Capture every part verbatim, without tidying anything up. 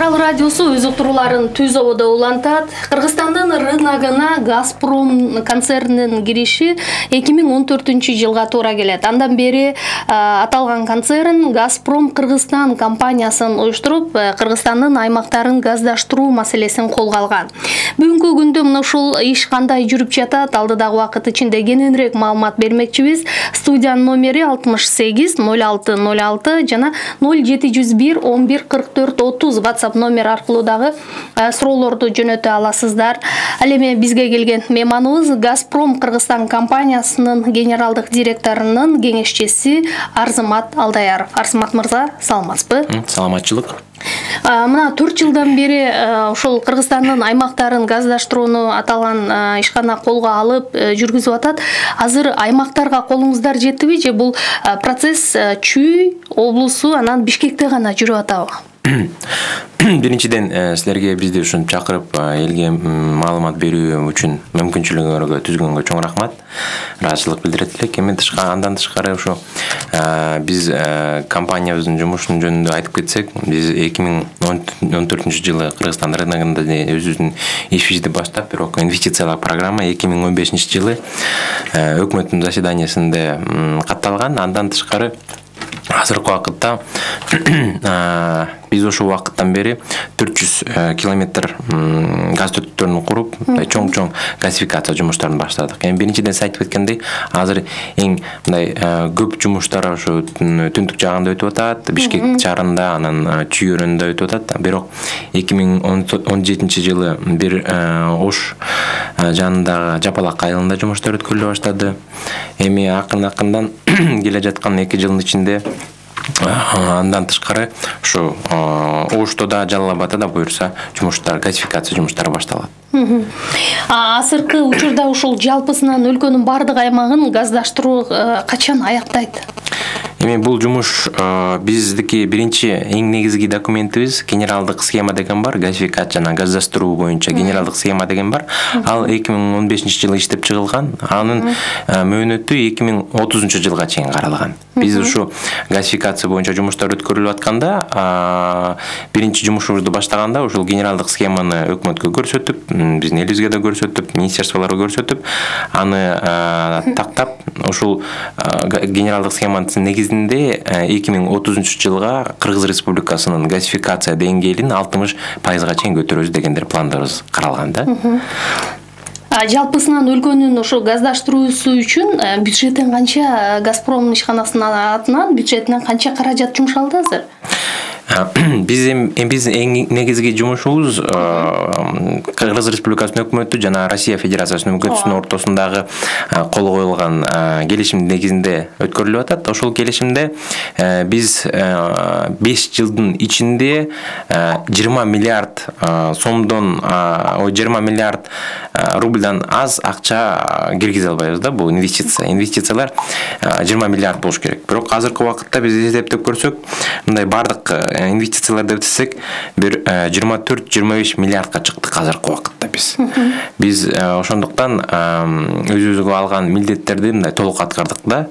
Арал радиосу өз уктурууларын түз ободо улантат. Кыргызстандын рыногуна Газпром концернинин кириши эки миң он төртүнчү жылга туура келет. Андан бери аталган концерн Газпром Кыргызстан компаниясын уюштуруп, Кыргызстандын аймактарын газдаштыруу маселесин колго алган. Бүгүнкү күндө мына ушул иш кандай жүрүп жатат, алдыдагы убакыт ичинде кененирээк маалымат бермекчибиз. Студиянын номери алтымыш сегиз ноль алты ноль алты жана ноль жети жүз бир он бир кырк төрт отуз WhatsApp номер аркылуу дагы суроолорду жөнөтө аласыздар. Ал эми бизге келген мейманыбыз Газпром Кыргызстан компаниясынын генералдык директорунун кеңешчиси Арзымат Алдаяров. Арзымат мырза, саламатсызбы? Саламатчылык. Мына төрт жылдан бери ошол Кыргызстандын аймактарын газдаштырууну аталган ишкана колго алып жүргүзүп атат. Азыр аймактарга колуңуздар жеттиби же бул процесс Чүй облусу анан Бишкекте гана жүрүп атабы? Биринчиден силерге бизди ушинтип чакырып элге маалымат берүү үчүн мүмкүнчүлүгүңөргө түзгөнгө чоң рахмат. Ыраазычылык билдирет элек. Эми андан тышкары ушу биз компаниябыздын жумушунун жөнүндө айтып кетсек, биз эки миң он төртүнчү жылы Кыргызстан рыногунда өзүбүздүн ишибизди баштап, бирок инвестициялык программа эки миң он бешинчи жылы өкмөттүн заседаниясында катталган. Андан тышкары азыркы убакытта биз ошол убакыттан бери төрт жүз километр газ түтүктөрүн куруп, чоң-чоң газификация жумуштарын баштадык. Эми биринчиден айтып кеткендей, азыр эң мындай көп жумуштар ошо түндүк жагында өтүп атат, Бишкек шаарында, анан Чүй өрөөнүндө өтүп атат. Бирок эки миң он жетинчи жылы бир Ош жанындагы Жапалак айылында жумуштар өткөрүлө баштады. Эми акырын-акырындан келе жаткан эки жылдын ичинде андан тышкары ушу Ошто да, Жалал абадда да буюрса жумуштар, газификация жумуштары башталат. Азыркы учурда ушул жалпысынан өлкөнүн бардык аймагын газдаштыруу качан аяктайт? Эми бул жумуш биздики биринчи эң негизги документибиз генералдык схема деген бар, газификация жана газдаштыруу боюнча генералдык схема деген бар. Ал эки миң он бешинчи жылы иштеп чыгылган. Анын мөөнөтү эки миң отузунчу жылга чейин каралган. Биз ушу газификация боюнча жумуштар өткөрүлүп атканда, биринчи жумушубузду баштаганда ушул генералдык схеманы өкмөткө көрсөтүп, биздин элибизге да көрсөтүп, министерстволорго көрсөтүп, аны тактап, ушул генералдык схеманын негизинде эки миң отузунчу жылга Кыргыз Республикасынын газификация деңгээлин алтымыш пайызга чейин көтөрөбүз дегендер пландарыбыз каралган да. Жалпысынан өлкөнүн ошо газдаштыруусу үчүн бюджеттен канча, Газпромдун ишканасынын атынан бюджетинен канча каражат жумшалды азыр? Биз биздин эң негизги жумушубуз Кыргыз Республикасынын өкмөтү жана Россия Федерациясынын өкмөтүнүн ортосундагы кол коюлган келишим негизинде өткөрүлүп атат. Ошол келишимде биз беш жылдын ичинде жыйырма миллиард сомдон, жыйырма миллиард рубльдан аз акча киргизе албайбыз да, бул инвестиция. Инвестициялар жыйырма миллиард болуш керек. Бирок азыркы убакытта биз эсептеп көрсөк, мындай бардык инвестицияларды өтсек, бир жыйырма төрт жыйырма беш миллиардка чыктык азыркы убакытта биз. Биз ошондуктан өзүбүзгө алган милдеттерди мындай толук аткардык да.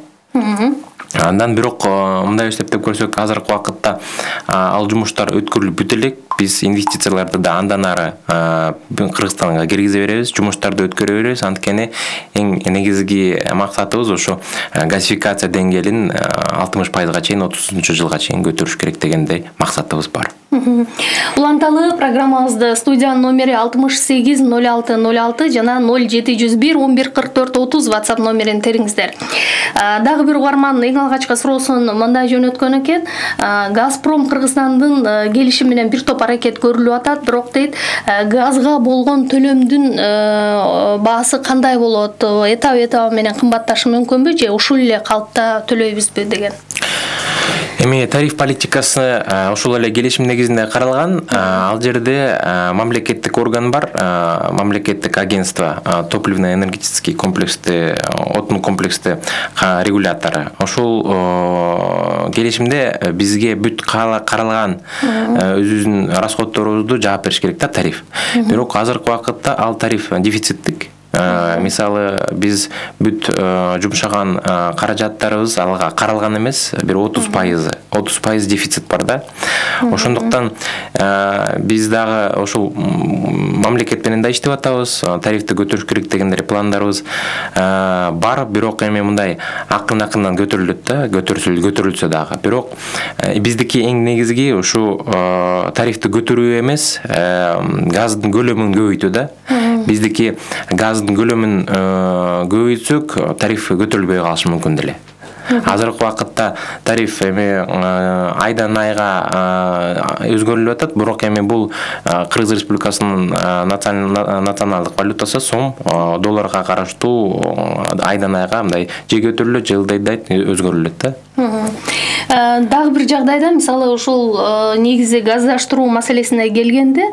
Андан бирок мындай эсептеп көрсөк, азыркы убакытта ал жумуштар өткөрүлүп бүтө элек. Биз инвестицияларды да андан ары Кыргызстанга киргизе беребиз, жумуштарды өткөрө беребиз. Анткени эң негизги максатыбыз ошо газификация деңгээлин алтымыш пайызга чейин отузунчу жылга чейин көтөрүш керек дегендей максатыбыз бар. Уланталы программабызды студиянын номери алтымыш сегиз ноль алты ноль алты жана ноль жети жүз бир он бир кырк төрт отуз WhatsApp номерин териңиздер. Дагы бир угарман эң алгачкы суроосун мындай жөнөткөн экен. Газпром Кыргызстандын келишими менен бир топ аракет көрүлүп атат, бирок дейт, газга болгон төлөмдүн баасы кандай болот? Этап-этабы менен кымбатташы мүмкүнбү же ушул эле калыпта төлөйбүзбү деген? Эми тариф политикасы ушул эле келишим негизинде каралган. Ал жерде мамлекеттик орган бар, мамлекеттик агентство, топливно-энергетический комплексти, отун комплексти регулятору. Ошол келишимде бизге бүт каралган өзүбүздүн расходторубузду жаап бериш керек да тариф. Бирок азыркы убакытта ал тариф дефициттик. Мисалы биз бүт жумшаган каражаттарыбыз алга каралган эмес, бир отуз пайызы отуз пайыз дефицит бар да. Ошондуктан биз дагы ошол мамлекет менен да иштеп атабыз, тарифти көтөрүш керек дегендер пландарыбыз бар, бирок эми мындай акырын-акырынан көтөрүлөт да, көтөрүлсө дагы. Бирок биздики эң негизги ушу тарифти көтөрүү эмес, газдын көлөмүн көбөйтүү да. Биздики газдын көлөмүн көбөйтсөк, тариф көтөрүлбөй калышы мүмкүн деле. Азыркы вакытта тариф эми айдан айга өзгөрүлүп атат, бирок эми бул Кыргыз Республикасынын националдык валютасы сом, долларга караштуу айдан айга мындай же көтөрүлөт, же ылдайдай өзгөрүлөт да. Дагы бир жагдайда, мисалы ушул негизи газдаштыруу маселесине келгенде,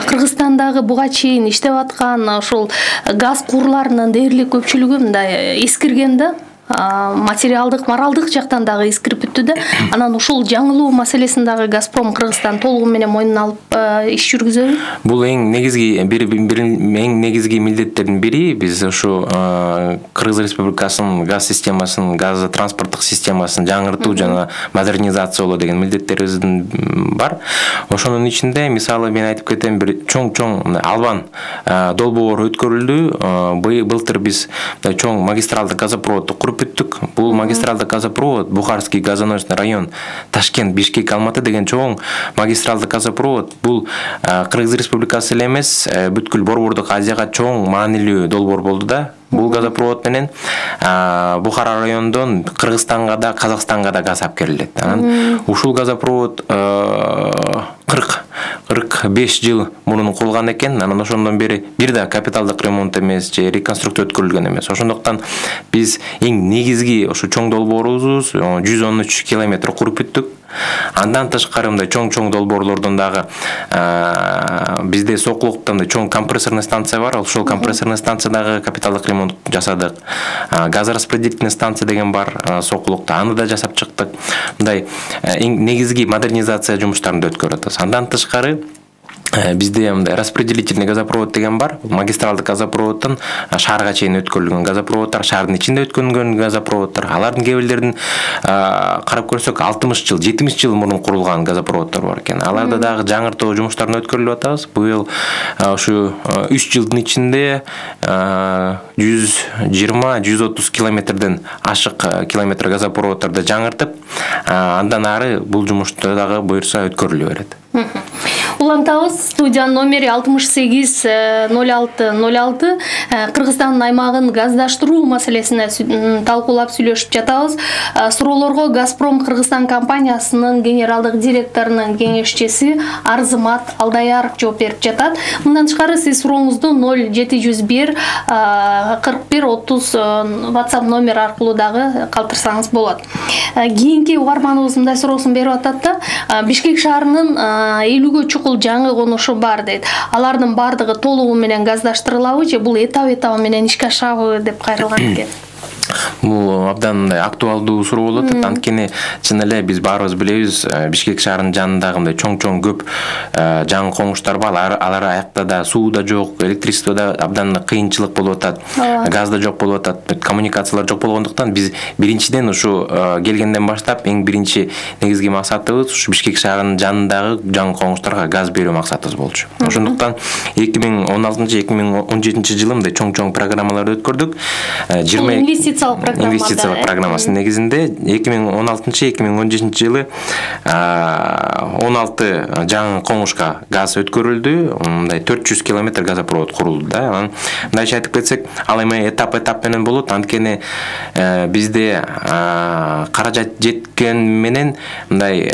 Кыргызстандагы буга чейин иштеп аткан ушул газ курларынын дээрлик көпчүлүгү мындай эскирген да. Материалдык, моралдык жактан дагы эскирип бүттү да. Анан ушул жаңылуу маселесин дагы Газпром Кыргызстан толугу менен мойнуна алып иш жүргүзөбү? Бул эң негизги бир эң негизги милдеттердин бири. Биз ушу Кыргыз Республикасынын газ системасын, газ транспорттук системасын жаңыртуу жана модернизациялоо деген милдеттерибиздин бар. Ошонун ичинде мисалы мен айтып кетем, бир чоң-чоң Албан долбоор өткөрүлдү. Былтыр биз чоң магистралдык газопроводду куруп бүттүк. Бул магистралдык газопровод Бухарский газоносный район, Ташкент, Бишкек, Алматы деген чоң магистралдык газопровод. Бул Кыргыз Республикасы эле эмес, бүткүл Борбордук Азияга чоң маанилүү долбоор болду да. Бул газопровод менен Бухара райондон Кыргызстанга да, Казакстанга да газ алып келет. Анан ушул газопровод кырк беш жыл мурун курулган экен. Анан ошондон бери бир да капиталдык ремонт эмес, же реконструкция өткөрүлгөн эмес. Ошондуктан биз эң негизги ошо чоң долбоорубуз жүз он үч километр куруп бүттүк. Андан тышкары мындай чоң-чоң долбоорлордон дагы бизде Сокулукта чоң компрессорный станция бар. Ошол компрессорный станциядагы капиталдык ремонт жасадык. Газораспределительный станция деген бар Сокулукта, аны да жасап чыктык. Мындай эң негизги модернизация жумуштарын өткөрүп атабыз. Андан тышкары бизде мындай распределительный газопровод деген бар. Магистралдык газопроводдон шаарга чейин өткөрүлгөн газопроводдор, шаардын ичинде өткөрүлгөн газопроводдор. Алардын кээ бирлерин карап көрсөк алтымыш жыл, жетимиш жыл мурун курулган газопроводдор бар экен. Аларда дагы жаңыртуу жумуштарын өткөрүлүп атабыз. Быйыл ушу үч жылдын ичинде жүз жыйырма жүз отуз километрден ашык километр газопроводдорду жаңыртып, андан ары бул жумуштар дагы буюрса өткөрүлө берет. Улантабыз, студиянын номери алтымыш сегиз ноль алты ноль алты. Кыргызстандын аймагын газдаштыруу маселесине талкуулап сүйлөшүп жатабыз. Суроолорго Газпром Кыргызстан компаниясынын генералдык директорунун кеңешчиси Арзымат Алдаяров жооп берип жатат. Мындан тышкары сиз сурооңузду ноль жети жүз бир кырк бир отуз WhatsApp номер аркылуу дагы калтырсаңыз болот. Кийинки угарманыбыз мындай суроосун берип атат да. Бишкек шаарынын элүүгө чукул жаңы конушу бар дейт. Алардын бардыгы толугу менен газдаштырылабы же бул этап-этабы менен ишке ашабы деп кайрылган экен. Бул абдан актуалдуу суроо болот. Анткени чын эле биз баарыбыз билебиз, Бишкек шаарынын жанындагы мындай чоң-чоң көп жаңы коңуштар бар. Алар аякта да суу да жок, электричество да абдан кыйынчылык болуп атат, газ да жок болуп атат, коммуникациялар жок болгондуктан биз биринчиден ушу келгенден баштап эң биринчи негизги максатыбыз ушу Бишкек шаарынын жанындагы жаңы коңуштарга газ берүү максатыбыз болчу. Ошондуктан эки миң он алтынчы эки миң он жетинчи жылы мындай чоң-чоң программаларды өткөрдүк. жыйырма инвестициялык программасынын негизинде эки миң он алтынчы эки миң он жетинчи жылы он алты жаңы коңушка газ өткөрүлдү. Мындай төрт жүз километр газопровод курулду да. Анан мындайча айтып кетсек, ал эми этап-этап менен болот. Анткени бизде каражат жеткен менен мындай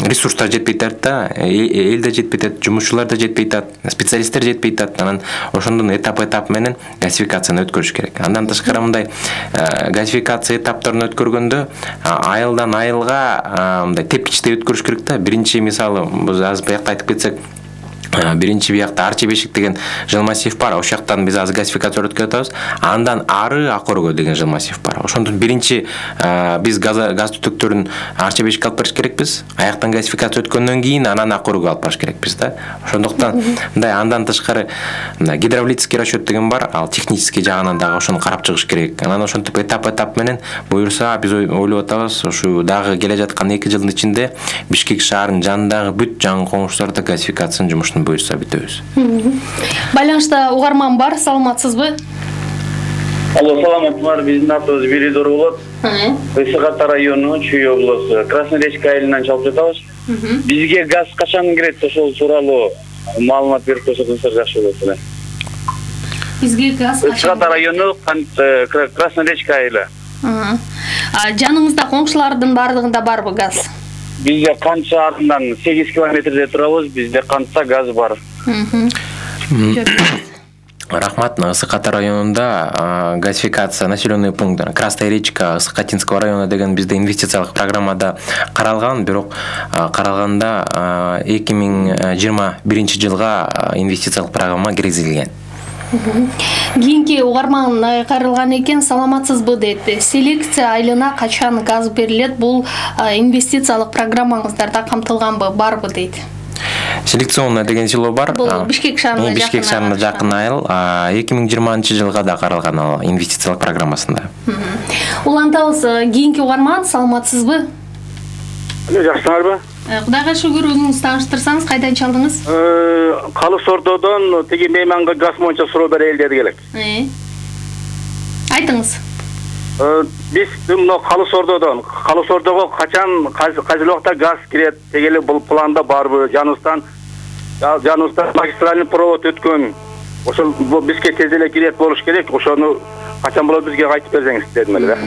ресурстар жетпей атат да, эл да жетпей атат, жумушчулар да жетпей атат, специалисттер жетпей атат. Анан ошондон этап-этап менен газификацияны өткөрүш керек. Андан тышкары мындай газификация этаптарын өткөргөндө айылдан айылга мындай тепкичтей өткөрүш керек да. Биринчи мисалы биз азыр буякта айтып кетсек, биринчи биякта Арчи Бешик деген жыл массив бар. Ошол жактан биз азыр газификация өткөрүп атабыз. Андан ары Акорго деген жыл массив бар. Ошондон биринчи биз газ газ түтүктөрүн Арчи Бешикке алып барыш керекпиз. Аяктан газификация өткөндөн кийин анан Акорго алып барыш керекпиз да. Ошондуктан мындай андан тышкары гидравлический расчет деген бар. Ал технический жагынан дагы ошону карап чыгыш керек. Анан ошентип этап-этап менен буюрса биз ойлоп атабыз, ушу дагы келе жаткан эки жылдын ичинде Бишкек шаарынын жанындагы бүт жаңы коңуштарда газификациянын жумушун буюрса бүтөбүз. Байланышта угарман бар, саламатсызбы? Алло, саламатсызбы? Биздин атыбыз Биридор болот. Ысык Ата району, Чүй облусу, Красноярский айылынан чалып жатабыз. Бизге газ качан кирет, ошол тууралуу маалымат берип койсоңуздар жакшы болот эле. Бизге газ качан? Ысык Ата району, Красноярский айылы. Жаныңызда коңшулардын бардыгында барбы газ? Бизде канча арындан сегиз километрде турабыз, бизде канча газ бар. Рахмат. Ысык Ата районунда газификация населенный пункт Красная речка Ысык-Атинского района деген бизде инвестициялык программада каралган, бирок каралганда эки миң жыйырма биринчи жылга инвестициялык программа киргизилген. Кийинки угарман кайрылган экен, саламатсызбы дейт. Селекция айылына качан газ берилет? Бул инвестициялык программаңыздарда камтылганбы, барбы дейт. Селекционный деген село бар. Бул Бишкек шаарына жакын. Бишкек шаарына жакын айыл. эки миң жыйырманчы жылга да каралган ал инвестициялык программасында. Улантабыз. Кийинки угарман, саламатсызбы? Жакшысыңарбы? Кудайга шүгүр, өзүңүз тааныштырсаңыз, кайдан чалдыңыз? Калыс Ордодон тиги мейманга газ боюнча суроо берели деди элек. Айтыңыз. Биз мына Калыс Ордодон, Калыс Ордого качан кайсы убакта газ кирет дегеле бул планда барбы? Жаныбыздан Жаныбыздан магистральный провод өткөн. Ошол бизге тез эле кирет болуш керек. Ошону качан болот бизге айтып берсеңиз дедим эле да.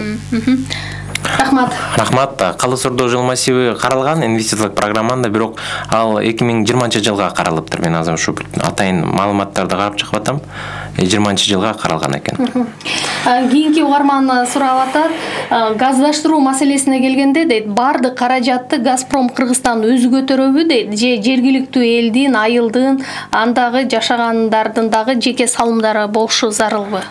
Рахмат. Рахмат. Калыс Ордо жыл массиви каралган инвестициялык программанда, бирок ал эки миң жыйырманчы жылга каралыптыр. Мен азыр ушу атайын маалыматтарды карап чыгып атам. жыйырманчы жылга каралган экен. Кийинки угарман сурап атат, газдаштыруу маселесине келгенде дейт, бардык каражатты Газпром Кыргызстан өзү көтөрөбү дейт, же жергиликтүү элдин, айылдын, андагы жашагандардын дагы жеке салымдары болушу зарылбы?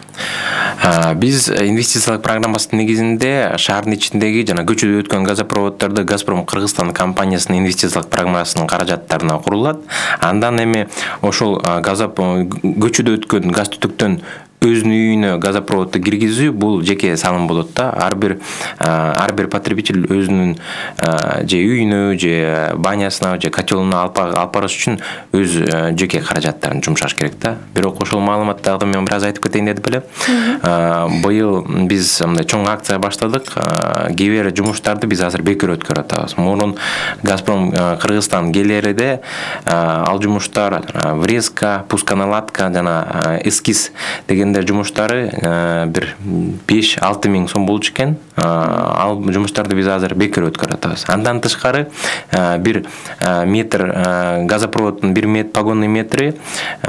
Биз инвестициялык программасынын негизинде шаардын ичиндеги жана көчөдө өткөн газопроводдорду Газпром Кыргызстан компаниясынын инвестициялык программасынын каражаттарына курулат. Андан эми ошол көчөдө өткөн газ түтүктөн өзүнүн үйүнө газопроводду киргизүү бул жеке салым болот да. Ар бир ар бир потребитель өзүнүн же үйүнө, же банясына, же котелуна алып барыш үчүн өз жеке каражаттарын жумшаш керек да. Бирок ошол маалыматтарды мен бир аз айтып кетейин деп эле. Быйыл биз мындай чоң акция баштадык. Кээ бир жумуштарды биз азыр бекер өткөрүп атабыз. Мурун Газпром Кыргызстан келерде ал жумуштар врезка, пусконаладка жана эскиз деген жумуштары бир беш алты миң сом болчу экен. Ал жумуштарды биз азыр бекер өткөрүп атабыз. Андан тышкары бир метр газопроводдун бир метр погонный метри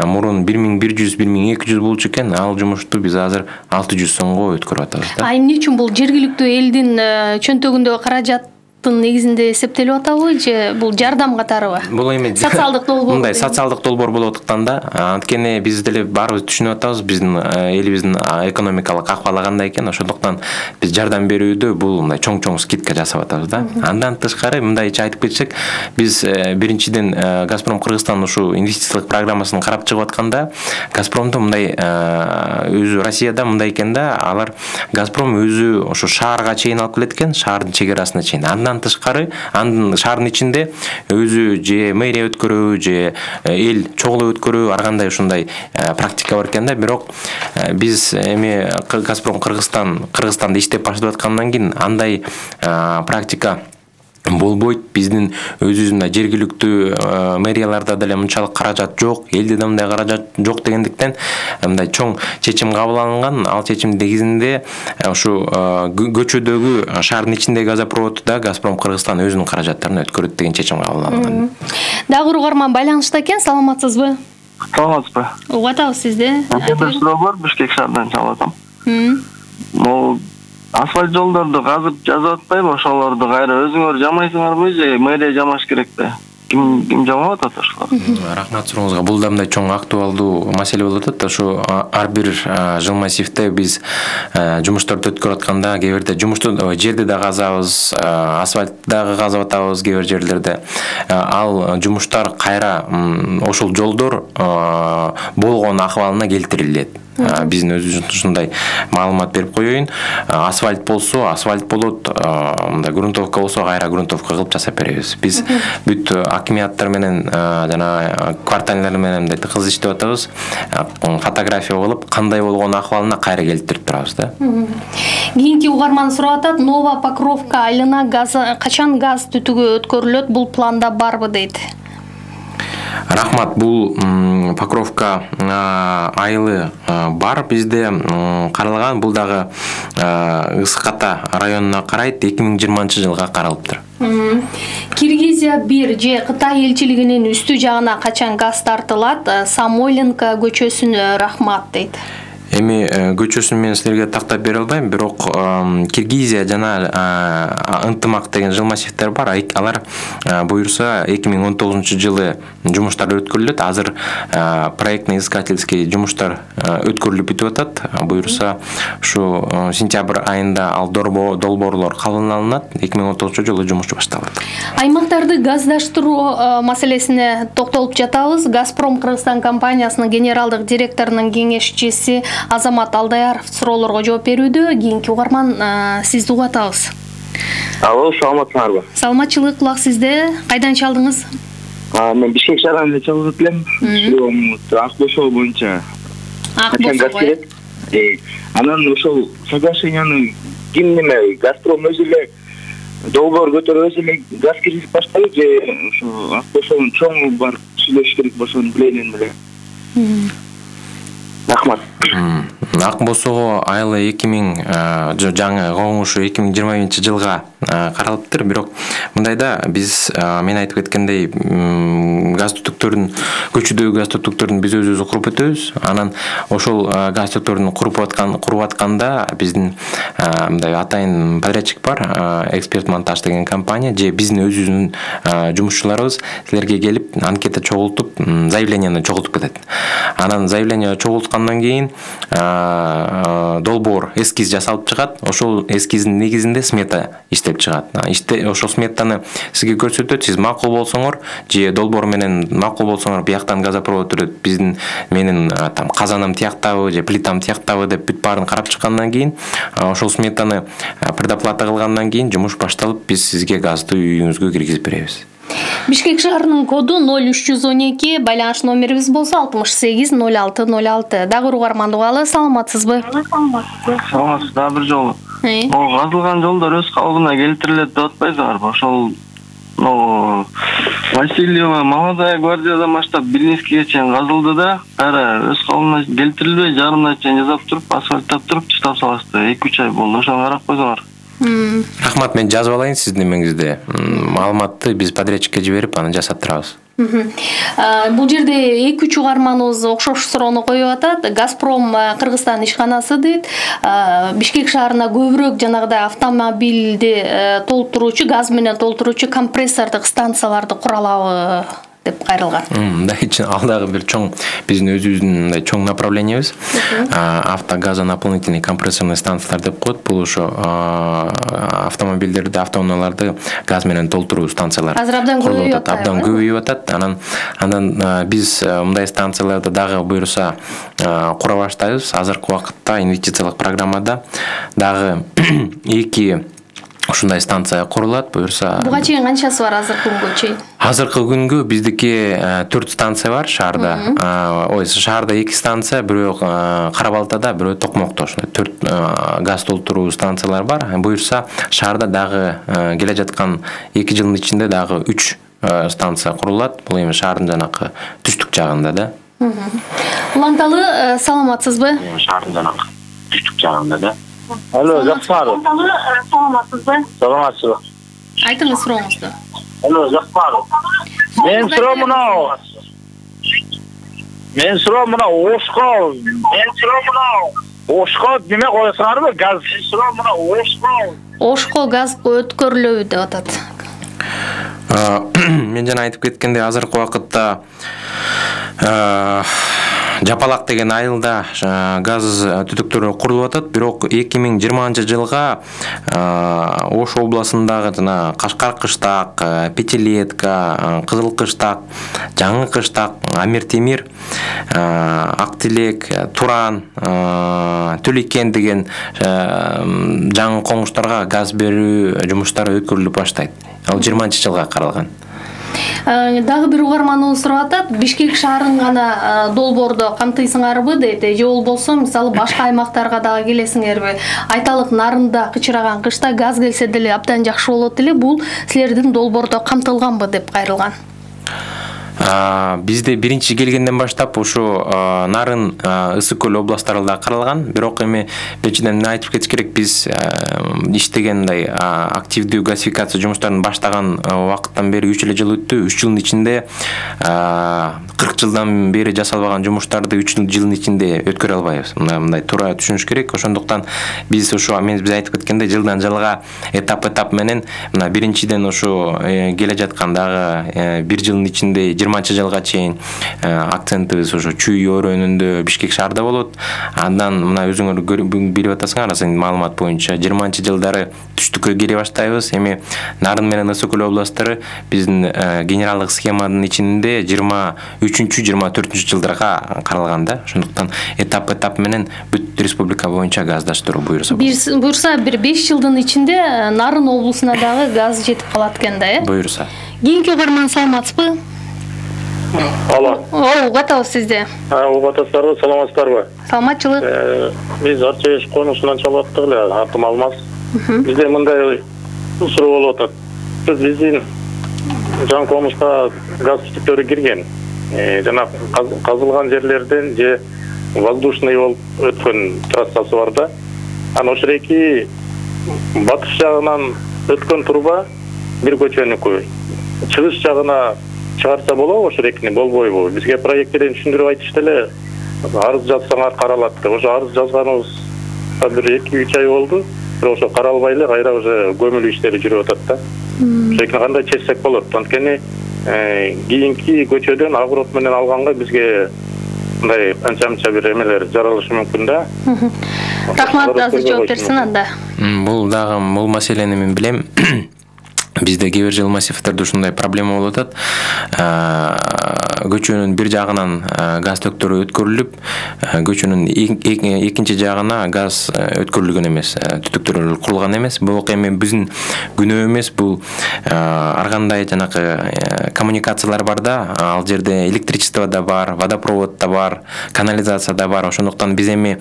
мурун бир миң бир жүз бир миң эки жүз болчу экен. Ал жумушту биз азыр алты жүз сомго өткөрүп атабыз да. А эмне үчүн бул жергиликтүү элдин чөнтөгүндөгү каражат негизинде эсептелип атабы, же бул жардам катарыбы? Бул эми социалдык долбоор. Мындай социалдык долбоор болуп аткан да. Анткени биз деле баарыбыз түшүнүп атабыз, биздин элибиздин экономикалык акыбалы кандай экен. Ошондуктан биз жардам берүүдө бул мындай чоң-чоң скидка жасап атабыз да. Андан тышкары мындайча айтып кетсек, биз биринчиден Газпром Кыргызстан ушу инвестициялык программасын карап чыгып атканда, Газпромду мындай өзү Россияда мындай экен да, алар Газпром өзү ошо шаарга чейин алып келет экен, шаардын чек-арасына чейин. Андан тышкары анын шаардын ичинде өзү же мэрия өткөрүү, же эл чогулуп өткөрүү, ар кандай ушундай практика бар экен да. Бирок биз эми Газпром Кыргызстан Кыргызстанда иштеп баштап аткандан кийин андай практика болбойт. Биздин өзүбүздүн жергиликтүү мэрияларда деле мынчалык каражат жок, элде да мындай каражат жок дегендиктен мындай чоң чечим кабыл алынган. Ал чечим негизинде ушу көчөдөгү шаардын ичиндеги газопроводду да Газпром Кыргызстан өзүнүн каражаттарын өткөрөт деген чечим кабыл алынган. Дагы угарман байланышта экен, саламатсызбы? Саламатсызбы? Угуп атабыз сизди. Бир суроо бар, Бишкек шаарынан чалып атам. Могу асфальт жолдорду казып жазып атпайбы, ошолорду кайра өзүңөр жамайсыңарбы же мэрия жамаш керекпи? ким ким жамап атат ошолор? Рахмат сурооңузга. Бул да мындай чоң актуалдуу маселе болуп атат. Ошо ар бир жыл массивде биз жумуштарды өткөрүп атканда кээ бирде жумушту жерди да казабыз, асфальтты дагы казып атабыз кээ бир жерлерде. Ал жумуштар кайра ошол жолдор болгон акыбалына келтирилет. Биздин өзүбүз ушундай маалымат берип коеюн. Асфальт болсо, асфальт болот, мындай грунтовка болсо, кайра грунтовка кылып жасап беребиз. Биз бүт акимияттар менен жана кварталдар менен мындай тыгыз иштеп атабыз. Фотография кылып, кандай болгон акыбалына кайра келтирип турабыз да. Кийинки угарман сурап атат, Нова Покровка айылына газ качан газ түтүгү өткөрүлөт? Бул планда барбы дейт. Рахмат, бул Покровка айылы бар бизде каралган. Бул дагы Ысык-Ата районуна карайт, эки миң жыйырманчы жылга каралыптыр. Киргизия бир же Кытай элчилигинин үстү жагына качан газ тартылат? Самойленко көчөсүнө рахмат дейт. Эми көчөсүн мен силерге тактап бере албайм, бирок Киргизия жана ынтымак деген жыл массивдер бар. Алар буюрса эки миң он тогузунчу жылы жумуштар өткөрүлөт. Азыр проектно-искательский жумуштар өткөрүлүп бүтүп атат. Буюрса ушу сентябрь айында ал долбоорлор кабыл алынат. эки миң он тогузунчу жылы жумуш башталат. Аймактарды газдаштыруу маселесине токтолуп жатабыз. Газпром Кыргызстан компаниясынын генералдык директорунун кеңешчиси Азамат Алдаяров суроолорго жооп берүүдө. Кийинки угарман сизди угуп атабыз. Алло, саламатсыңарбы? Саламатчылык, кулак сизде. Кайдан чалдыңыз? Мен Бишкек шаарынан чалып элем. Ак Бошоо боюнча. Ак Бошоо. Анан ошол соглашенияны ким неме Газпром өзү эле долбоор көтөрүп өзү эле газ киргизип баштайбы же ошо Ак Бошоонун чоңу бар сүйлөшүш керек ошону билейин эле. Рахмат. Ак Бошоо айылы эки миң жаңы коңушу эки миң жыйырма биринчи жылга каралыптыр. Бирок мындайда биз мен айтып кеткендей газ түтүктөрүн, көчүдөгү газ түтүктөрүн биз өзүбүз куруп өтөбүз. Анан ошол газ түтүктөрүн куруп аткан куруп атканда биздин мындай атайын подрядчик бар, Эксперт Монтаж деген компания же биздин өзүбүздүн жумушчуларыбыз силерге келип анкета чогултуп, заявленияны чогултуп кетет. Анан заявление чогулткандан кийин долбоор эскиз жасалып чыгат. Ошол эскиздин негизинде смета иштеп чыгат. Иште ошол сметаны сизге көрсөтөт. Сиз макул болсоңор же долбоор менен макул болсоңор бияктан газопровод өрөт. Биздин менин там казаным тияктабы же плитам тияктабы деп бүт баарын карап чыккандан кийин ошол сметаны предоплата кылгандан кийин жумуш башталып биз сизге газды үйүңүзгө киргизип беребиз. Бишкек шаарынын коду ноль үч жүз он эки, байланыш номерибиз болсо алтымыш сегиз ноль алты ноль алты. Дагы угарманды угалы, саламатсызбы? Саламатсыз, дагы бир жолу. О, казылган жолдор өз калыбына келтирилет деп атпайсыңарбы? Ошол но Васильева Молодая гвардиядан баштап Билинскиге чейин казылды да, кайра өз калыбына келтирилбей жарымына чейин жасап туруп, асфальттап туруп чыштап салышты. эки үч ай болду. Ошону карап койсоңор. Рахмат, мен жазып алайын сиздин немеңизде. Маалыматты биз подрядчикке жиберип, аны жасап турабыз. Бул жерде эки үч угарманыбыз окшош суроону коюп атат. Газпром Кыргызстан ишканасы дейт. Бишкек шаарына көбүрөөк жанагыдай автомобилди толтуруучу, газ менен толтуруучу компрессордук станцияларды куралабы деп кайрылган. Мындай ал дагы бир чоң биздин өзүбүздүн мындай чоң направлениябыз. Автогазонаполнительный компрессорный станциялар деп коет. Бул ошо автомобилдерди, автоунааларды газ менен толтуруу станциялары. Азыр абдан көбөйүп атат. Абдан көбөйүп атат. Анан анан биз мындай станцияларды дагы буюрса кура баштайбыз. Азыркы убакытта инвестициялык программада дагы эки ушундай станция курулат. Буюрса буга чейин канчасы бар азыркы күнгө чейин? Азыркы күнгө биздики төрт станция бар шаарда. Ой, шаарда эки станция, бирөө Кара-Балтада, бирөө Токмокто. Ошондой төрт газ толтуруу станциялар бар. Буюрса шаарда дагы келе жаткан эки жылдын ичинде дагы үч станция курулат. Бул эми шаардын жанакы түштүк жагында да. Уланталы, саламатсызбы? Шаардын жанакы түштүк жагында да. Алло, жакшырбы? Саламатсызбы? Саламатсызбы. Айтыңыз сурооңузду. Алло, жакшырбы? Мен суроо мынау. Мен суроо мынау Ошко. Мен суроо мынау Ошко неме коесуңарбы? Газ суроо мынау Ошко. Ошко газ өткөрүлөбү деп атат. Мен жана айтып кеткендей, азыркы убакытта Жапалак деген айылда газ түтүктөрү курулуп атат, бирок эки миң жыйырманчы жылга Ош областындагы жана Кашкар кыштак, Пятилетка, Кызыл кыштак, Жаңы кыштак, Амир Темир, Ак Тилек, Туран, Түликен деген жаңы коңуштарга газ берүү жумуштары өткөрүлүп баштайт. Ал жыйырманчы жылга каралган. Дагы бир угарманыбыз сурап атат, Бишкек шаарын гана долбоордо камтыйсыңарбы дейт, же болбосо мисалы башка аймактарга дагы келесиңерби? Айталык Нарында кычыраган кышта газ келсе деле абдан жакшы болот эле, бул силердин долбоордо камтылганбы деп кайрылган. Бизде биринчи келгенден баштап ушу Нарын, Ысык көл областтарында каралган, бирок эми биринчиден айтып кетиш керек, биз иштеген мындай активдүү газификация жумуштарын баштаган убакыттан бери үч эле жыл өттү. үч жылдын ичинде кырк жылдан бери жасалбаган жумуштарды үч жылдын ичинде өткөрө албайбыз. Мындай туура түшүнүш керек. Ошондуктан биз ушу мен биз айтып кеткендей жылдан жылга этап-этап менен мына биринчиден ушу келе жаткандагы бир жылдын ичинде жыйырманчы жылга чейин акцентибиз ушу Чүй өрөөнүндө Бишкек шаарда болот. Андан мына өзүңөр билип атасыңар, сен маалымат боюнча жыйырманчы жылдары түштүккө келе баштайбыз. Эми Нарын менен Ысык көл областтары биздин генералдык схеманын ичинде жыйырма үчүнчү жыйырма төртүнчү жылдарга каралган да. Ошондуктан этап-этап менен бүт республика боюнча газдаштыруу буйруса. Буйруса бир беш жылдын ичинде Нарын облусуна дагы газ жетип калат экен да, э? Буйруса. Кийинки угарман саламатсызбы? Алло. О, угатабыз сизди. Угатасыздарбы, саламатсыздарбы? Саламатчылык. Биз Арча конусунан чалып аттык эле, атым Алмаз. Бизде мындай суроо болуп атат. Биздин жаңы конуска газ түтүктөрү кирген. Жана казылган жерлерден же воздушный болуп өткөн трассасы бар да. Анан ошол эки батыш жагынан өткөн труба бир көчөнүкү. Чыгыш жагына чыгарса болобу ошол экини, болбойбу? Бизге проекттерин түшүндүрүп айтышты эле. Арыз жазсаңар каралат деп. Ошо арыз жазганыбыз бир эки үч ай болду. Бирок ошо каралбай эле кайра уже көмүлүү иштери жүрүп атат да. Ошо экини кандай чечсек болот? Анткени кийинки көчөдөн агрот менен алганга бизге мындай анча-мынча бир эмелер жаралышы мүмкүн да. Рахмат, азыр жооп берсин анда. Бул дагы бул маселени мен билем. Бизде кээ бир жыл массивдерде ушундай проблема болуп атат. Көчөнүн бир жагынан газ төктөрү өткөрүлүп, көчөнүн экинчи жагына газ өткөрүлгөн эмес, түтүктөр курулган эмес. Бул эми биздин күнөө эмес, бул ар кандай жанакы коммуникациялар бар да, ал жерде электричество да бар, водопровод да бар, канализация да бар. Ошондуктан биз эми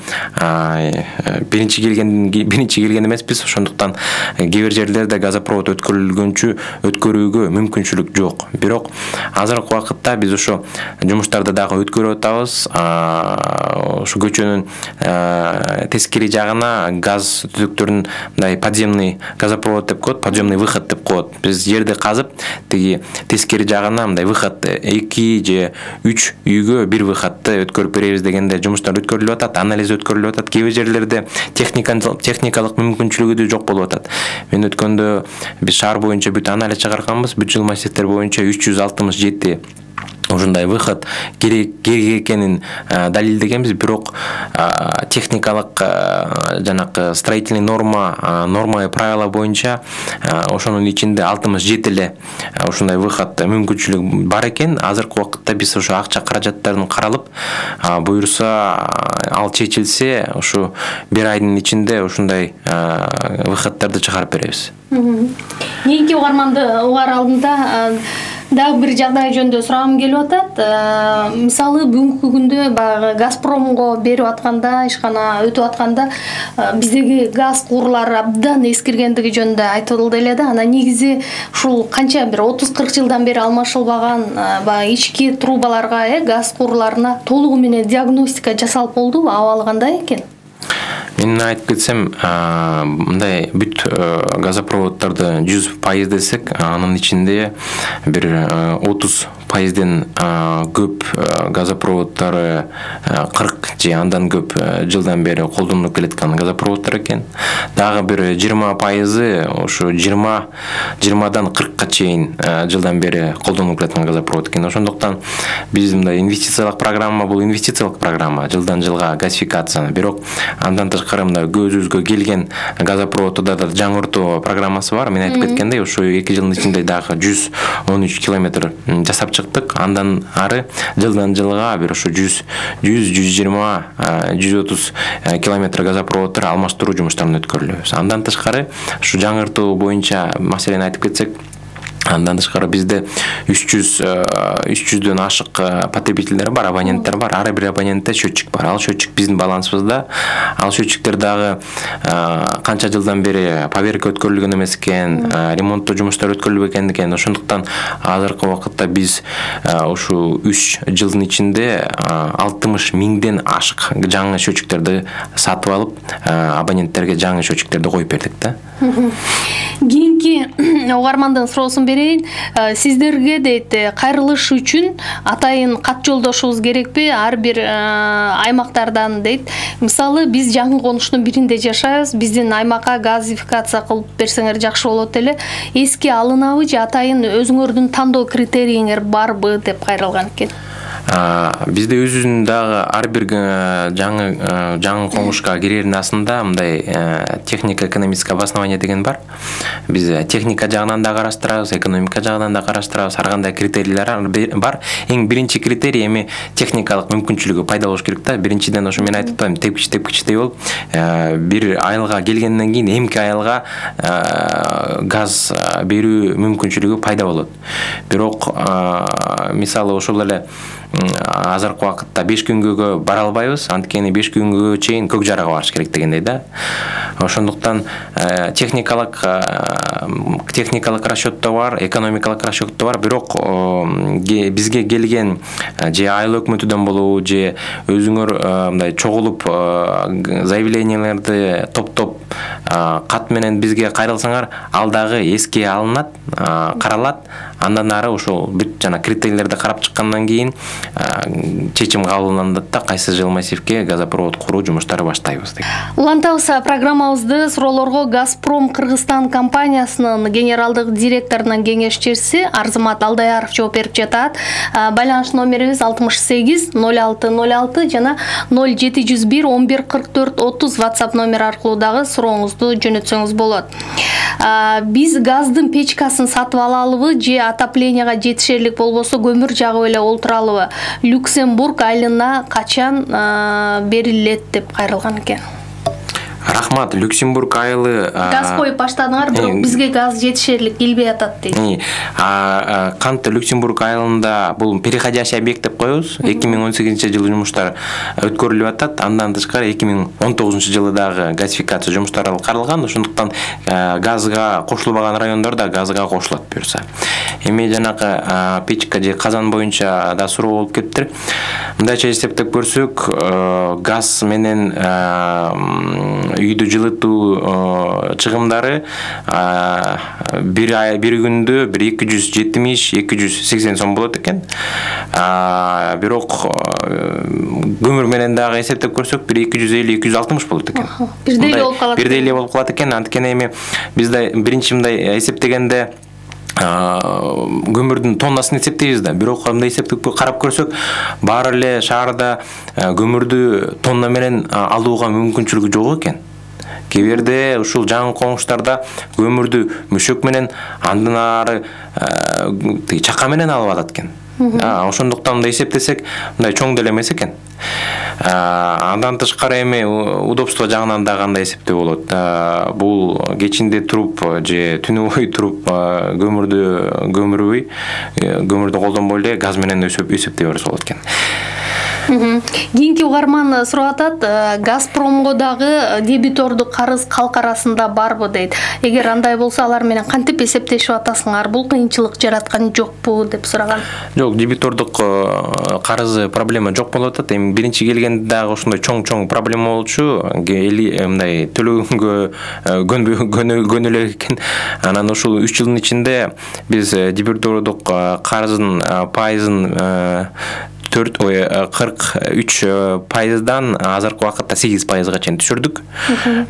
биринчи келген биринчи келген эмеспиз. Ошондуктан кээ бир жерлерде газопровод өткөрүлгөн өткөрүүгө мүмкүнчүлүк жок. Бирок азыркы убакытта биз ошо жумуштарды дагы өткөрүп атабыз. Ошо көчөнүн тескери жагына газ түтүктөрүн мындай подземный газопровод деп коет, подземный выход деп коет. Биз жерди казып, тиги тескери жагына мындай выход эки же үч үйгө бир выходты өткөрүп беребиз дегенде жумуштар өткөрүлүп атат, анализ өткөрүлүп атат. Кээ бир жерлерде техникалык мүмкүнчүлүгү да жок болуп атат. Мен өткөндө биз шаар боюнча бүт анализ чыгарганбыз, бүт жыл массивдер боюнча үч жүз алтымыш жети ушундай выход керек экенин далилдегенбиз. Бирок техникалык жанакы строительный норма норма и правила боюнча ошонун ичинде алтымыш жети эле ушундай выход мүмкүнчүлүк бар экен. Азыркы убакытта биз ошо акча каражаттарын каралып, буйруса ал чечилсе, ушу бир айдын ичинде ушундай выходдорду чыгарып беребиз. Кийинки угарманды угар алдында дагы бир жагдай жөнүндө сурагым келип атат. Мисалы бүгүнкү күндө баягы Газпромго берип атканда, ишкана өтүп атканда биздеги газ курлары абдан эскиргендиги жөнүндө айтылды эле да. Анан негизи ушул канча бир отуз кырк жылдан бери алмашылбаган баягы ички трубаларга, э, газ курларына толугу менен диагностика жасалып болдубу? Абалы кандай экен? Мен айтып кетсем, мындай бүт газопроводдорду жүз пайыз десек, анын ичинде бир отуз пайызден көп газопроводдору кырк же андан көп жылдан бери колдонулуп келаткан газопроводдор экен. Дагы бир жыйырма пайызы ошо жыйырма жыйырмадан кыркка чейин жылдан бери колдонулуп келаткан газопровод экен. Ошондуктан биз мындай инвестициялык программа бул инвестициялык программа, жылдан жылга газификация. Бирок андан тышкары мындай көзүбүзгө келген газопроводдо да жаңыртуу программасы бар. Мен айтып кеткендей, ошо эки жылдын ичинде дагы жүз он үч километр жасап чыктык. Андан ары жылдан жылга бир ошо жүз жүз жыйырма жүз отуз километр газопроводдор алмаштыруу жумуштарын өткөрүлөбүз. Андан тышкары ушу жаңыртуу боюнча маселени айтып кетсек, андан тышкары бизде үч жүздөн ашык потребителдер бар, абоненттер бар. Ар бир абонентте счетчик бар. Ал счетчик биздин балансыбызда. Ал счетчиктер дагы канча жылдан бери поверка өткөрүлгөн эмес экен, ремонттоо жумуштары өткөрүлбөгөн экен. Ошондуктан азыркы убакытта биз ушу үч жылдын ичинде алтымыш миңден ашык жаңы счетчиктерди сатып алып, абоненттерге жаңы счетчиктерди коюп бердик да. Кийинки угармандын суроосун берейин. Сиздерге дейт, кайрылыш үчүн атайын кат жолдошубуз керекпи? Ар бир аймактардан дейт. Мисалы, биз жаңы конуштун биринде жашайбыз. Биздин аймакка газификация кылып берсеңер жакшы болот эле. Эске алынабы же атайын өзүңөрдүн тандоо критерийиңер барбы деп кайрылган экен. Бизде өзүнүн дагы ар бир жаңы жаңы коңушка кирердин асында мындай технико экономическое обоснование деген бар. Биз техника жагынан да караштырабыз, экономика жагынан да караштырабыз. Ар кандай критерийлер бар. Эң биринчи критерий эми техникалык мүмкүнчүлүгү пайда болуш керек да. Биринчиден ошо мен айтып атам, тепкич тепкичтей болуп, бир айылга келгенден кийин эмки айылга газ берүү мүмкүнчүлүгү пайда болот. Бирок мисалы ошол эле азыркы убакытта беш күнгө бара албайбыз, анткени беш күнгө чейин көк жарага барыш керек дегендей да. Ошондуктан техникалык техникалык расчёттоо бар, экономикалык расчёттоо бар. Бирок бизге келген же айыл өкмөтүдөн болобу, же өзүңөр мындай чогулуп заявленияларды топтоп кат менен бизге кайрылсаңар, ал дагы эске алынат, каралат. Андан ары ошол бүт жана критерийлерди карап чыккандан кийин чечим кабыл алынат да, кайсы жыл массивке газопровод куруу жумуштары баштайбыз деп. Улантабыз программабызды суроолорго Газпром Кыргызстан компаниясынын генералдык директорунун кеңешчиси Арзымат Алдаяров жооп берип жатат. Байланыш номерибиз алтымыш сегиз ноль алты ноль алты жана ноль жети жүз бир он бир кырк төрт отуз WhatsApp номер аркылуу дагы сурооңузду жөнөтсөңүз болот. Биз газдын печкасын сатып алалыбы же отоплениега жетишерлик болбосо көмүр жагып эле олтуралыбы? Люксембург айылына качан берилет деп кайрылган экен. Рахмат. Люксембург айылы газ коюп баштадыңар, бирок бизге газ жетишерлик келбей атат дейт. Канты Люксембург айылында бул переходящий объект деп коебуз. эки миң он сегизинчи жылы жумуштар өткөрүлүп атат. Андан тышкары эки миң он тогузунчу жылы дагы газификация жумуштары каралган. Ошондуктан газга кошулбаган райондор да газга кошулат буюрса. Эми жанакы печка же казан боюнча да суроо болуп кетиптир. Мындайча эсептеп көрсөк, газ менен үйдү жылытуу чыгымдары бир ай бир күндө бир эки жүз жетимиш эки жүз сексен сом болот экен. Бирок көмүр менен дагы эсептеп көрсөк бир эки жүз элүү эки жүз алтымыш болот экен. Бирдей эле болуп калат. Бирдей эле болуп калат экен. Анткени эми бизде биринчи мындай эсептегенде көмүрдүн тоннасын эсептейбиз да. Бирок мындай эсептеп карап көрсөк, баары эле шаарда көмүрдү тонна менен алууга мүмкүнчүлүгү жок экен. Кээ бирде ушул жаңы коңуштарда көмүрдү мөшөк менен, андан ары чака менен алып атат экен. Ошондуктан мындай эсептесек, мындай чоң деле эмес экен. Андан тышкары эми удобство жагынан да кандай эсептөө болот. Бул кечинде туруп же түнү бою туруп көмүрдү көмүрбөй, көмүрдү колдонбой эле газ менен эсептей берсе болот экен. Кийинки угарман сурап атат, Газпромго дагы дебитордук карыз калк арасында барбы дейт. Эгер андай болсо, алар менен кантип эсептешип атасыңар? Бул кыйынчылык жараткан жокпу деп сураган. Жок, дебитордук карызы проблема жок болуп атат. Эми биринчи келгенде дагы ошондой чоң-чоң проблема болчу. Мындай төлөгөнгө көнө эле экен. Анан ушул үч жылдын ичинде биз дебитордук карыздын пайызын төрт кырк үч пайыздан азыркы убакытта сегиз пайызга чейин түшүрдүк.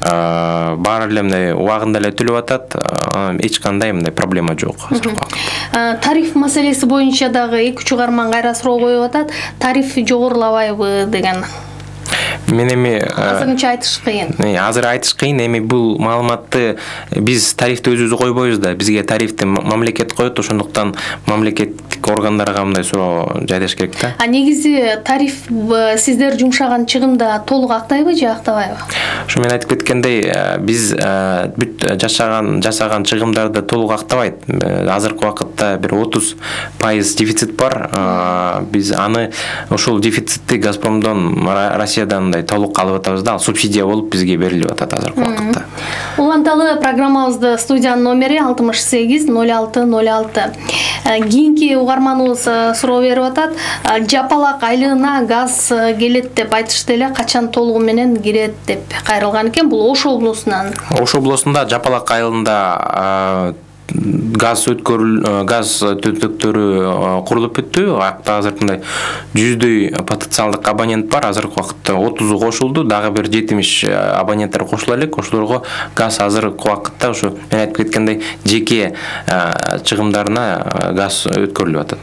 Баары эле мындай убагында эле төлөп атат. Эч кандай мындай проблема жок азыркы убакытта. Тариф маселеси боюнча дагы эки үч угарман кайра суроо коюп атат. Тариф жогорулабайбы деген. Мен эми азырынча айтыш кыйын. Азыр айтыш кыйын. Эми бул маалыматты биз тарифти өзүбүз койбойбуз да. Бизге тарифти мамлекет коет, ошондуктан мамлекеттик органдарга мындай суроо жайдаш керек да. А негизи тариф сиздер жумшаган чыгымда толук актайбы же актабайбы? Ошо мен айтып кеткендей, биз бүт жашаган жасаган чыгымдарды толук актабайт. Азыркы убакытта бир отуз пайыз дефицит бар. Биз аны ошол дефицитти Газпромдон, Россиядан мындай толук алып атабыз да, субсидия болуп бизге берилип атат азыркы убакытта. Уланталы программабызды студиянын номери алтымыш сегиз ноль алты ноль алты. Кийинки угарманыбыз суроо берип атат. Жапалак айлыгына газ келет деп айтышты эле, качан толугу менен кирет деп кайрылган экен. Бул Ош облусунан. Ош облусунда Жапалак айылында газ өткөрүл газ түтүктөрү курулуп бүттү. Акта азыр мындай жүздөй потенциалдык абонент бар. Азыркы убакытта отузу кошулду. Дагы бир жетимиш абоненттер кошула элек. Ошолорго газ азыркы убакытта ушу мен айтып кеткендей жеке чыгымдарына газ өткөрүлүп атат.